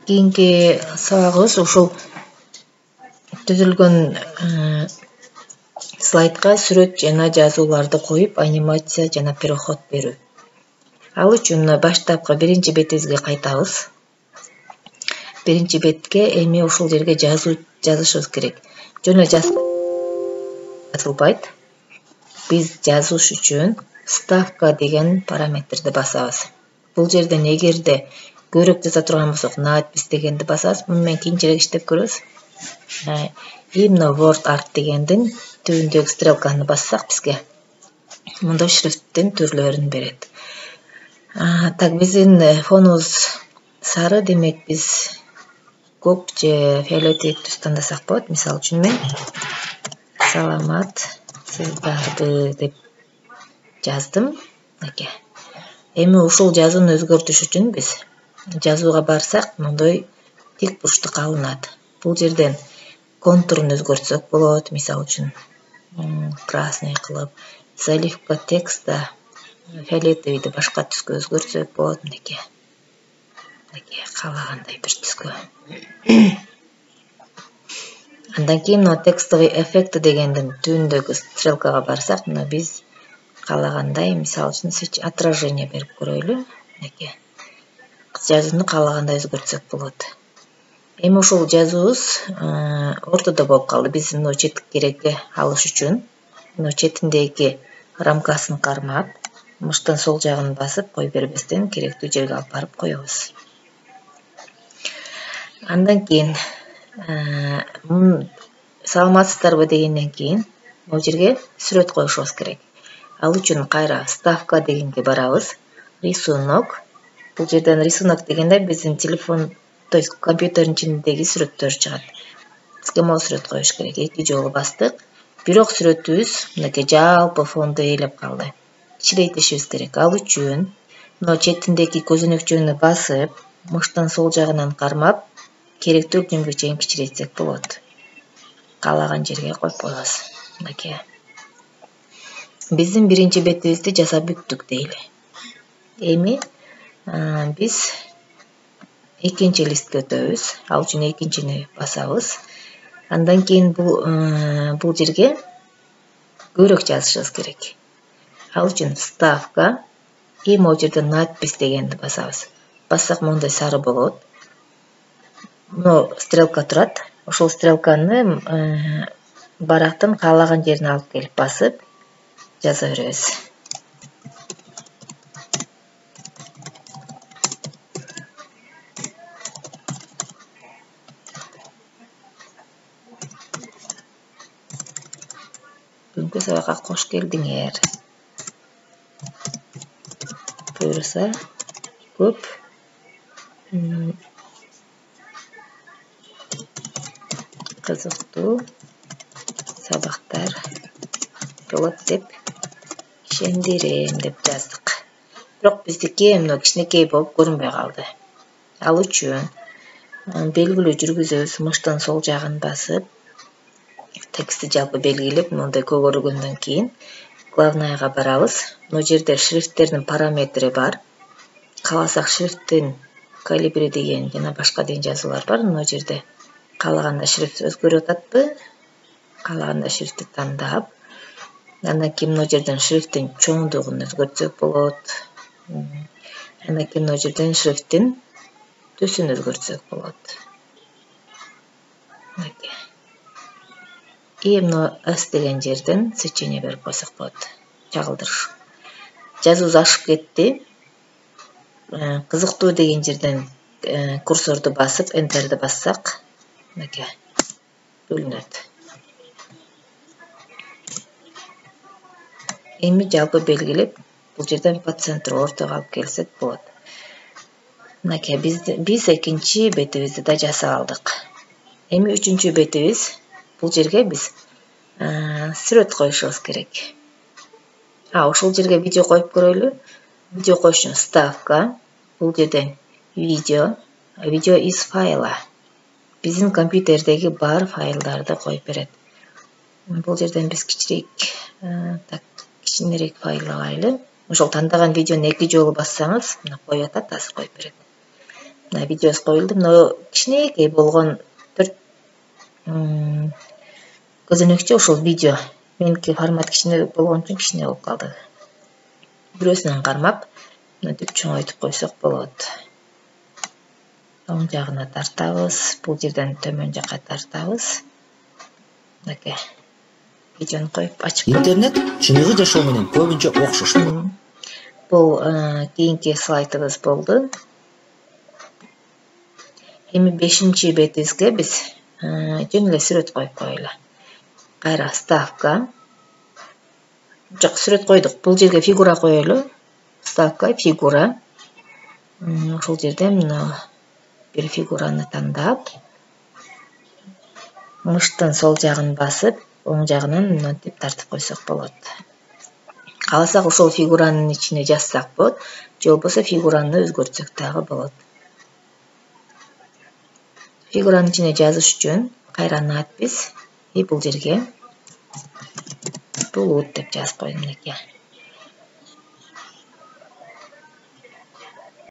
кийинки сабагыбыз ушул түзүлгөн слайдка сүрөт жана жазууларды коюп, анимация жана переход берүү. Ал үчүн баштапкы биринчи бетибизге кайтабыз. Биринчи бетке эми ушул жерге жазышыбыз керек. Жөн эле жазылбайт. Биз жазыш үчүн ставка деген параметрди басабыз. Бул жерден эгерде көбүрөөк жаза турган болсок, надпись дегенди басабыз. Муну менен кийинчерээк иштеп көрөбүз. Именно word art дегендин түбүндөгү стрелканы бассак бизге мында шрифттин түрлөрүн берет. Так, биздин фонубуз сары, демек биз көк же фиолетовый түс тандасак болот. Мисалы үчүн мен саламатсыздарбы деп жаздым. Эми ушул жазууну өзгөртүш үчүн биз жазууга барсак, мындай тик бурчтук алынат. Бул жерден контурун өзгөртсөк болот. Мисалы үчүн красный кылып, заливка текста фиолетовыйды башка түскө өзгөртсөк болот. Каалагандай бир түскө. Андан кийин текстовый эффект дегендин түбүндөгү стрелкага барсак, мына биз каалагандай, мисалы үчүн отражение берип көрөлү. Жазууну каалагандай өзгөртсөк болот. Эми ушул жазуубуз ортодо болуп калды. Биз мына четкереге алыш үчүн мына четиндеги рамкасын кармап, муштан сол жагын басып кой бербестен керектүү жерге алып барып коебуз. Андан кийин саламатсыздарбы дегенден кийин бул жерге сүрөт коюшубуз керек. Ал үчүн кайра ставка дегенге барабыз. Рисунок. Бул жерден рисунок дегенде биздин телефон, то есть компьютердин ичиндеги сүрөттөр чыгат. Бизге могу сүрөт коюш керек. 2 жолу бастык. Бирок сүрөтүбүз мынакей жалпы фонду ээлеп калды. Кичирейтишибиз керек. Ал үчүн мына четиндеги көзөнөкчөнү басып, муштан сол жагынан кармап, керектүү күнгө чейин кичирейтсек болот. Каалаган жерге коюп коебуз. Биздин биринчи бетибизди жасап бүттүк дейли. Эми биз экинчи листке өтөбүз. Ал үчүн экинчини басабыз. Андан кийин бул жерге көбүрөөк жазышыбыз керек. Ал үчүн ставка и могу жерде надпись дегенди басабыз. Бассак мондай сары болот. Мына стрелка турат. Ошол стрелканы барактын каалаган жерине алып келип басып жаза беребиз. Бүгүнкү сабакка кош келдиңер. Буюрса көп кызыктуу сабактар болот деп ишендирем деп жаздык. Бирок биздики мына кичинекей болуп көрүнбөй калды. Ал үчүн белгилүү жүргүзөбүз. Муштан сол жагын басып, текстти жалпы белгилеп, мындай көгөргөндөн кийин главныйга барабыз. Мына жерде шрифттердин параметри бар. Кааласак шрифттин калибри деген жана башка деген жазуулар бар. Мына жерде каалаганда шрифт өзгөрүп атпы? Каалаганда шрифтти тандап, андан кийин мына жерден шрифттин чоңдугун өзгөртсөк болот. Андан кийин мына жерден шрифттин түсүн өзгөртсөк болот. И мына S деген жерден сечение берип койсок болот. Чагылдырыш. Жазуубуз ашып кетти. Кызыктуу деген жерден курсорду басып, энтерди бассак, бөлүнөт. Эми жалпы белгилеп, бул жерден по центру ортого алып келсек болот. Биз экинчи бетибизди да жасап алдык. Эми үчүнчү бетибиз. Бул жерге биз сүрөт коюшубуз керек. Ошол жерге видео коюп көрөлү. Видео коюш үчүн ставка. Бул жерден видео из файла. Биздин компьютердеги бар файлдарды коюп берет. Бул жерден биз кичинерээк файл алайлы. Ошол тандаган видеону 2 жолу бассаңыз, мына коюп атат, азыр коюп берет. мына видеосу коюлду. Мына кичинекей болгон 4 көзөнөкчө ушул видео. Меники формат кичине болгон үчүн кичине болуп калды. Бирөөсүнөн кармап, мынтип чоңойтуп койсок болот. Оң жагына тартабыз, бул жерден төмөн жакка тартабыз. Мынакей. Видеону коюп ачып. Интернет чыныгы жашоо менен көбүнчө окшоштуу. Бул кийинки слайдыбыз болду. Эми 5-бетибизге биз жөн эле сүрөт коюп коелу. Кайра ставка. Жок, сүрөт койдук. Бул жерге фигура коелу. Ставка, фигура. Ушул жерден мына бир фигураны тандап, мыштын сол жагын басып, оң жагынан мынтип тартып койсок болот. Кааласак ошол фигуранын ичине жазсак болот, же болбосо фигураны өзгөртсөк дагы болот. Фигуранын ичине жазыш үчүн кайра надпись бул жерге булут деп жазып койдум экен.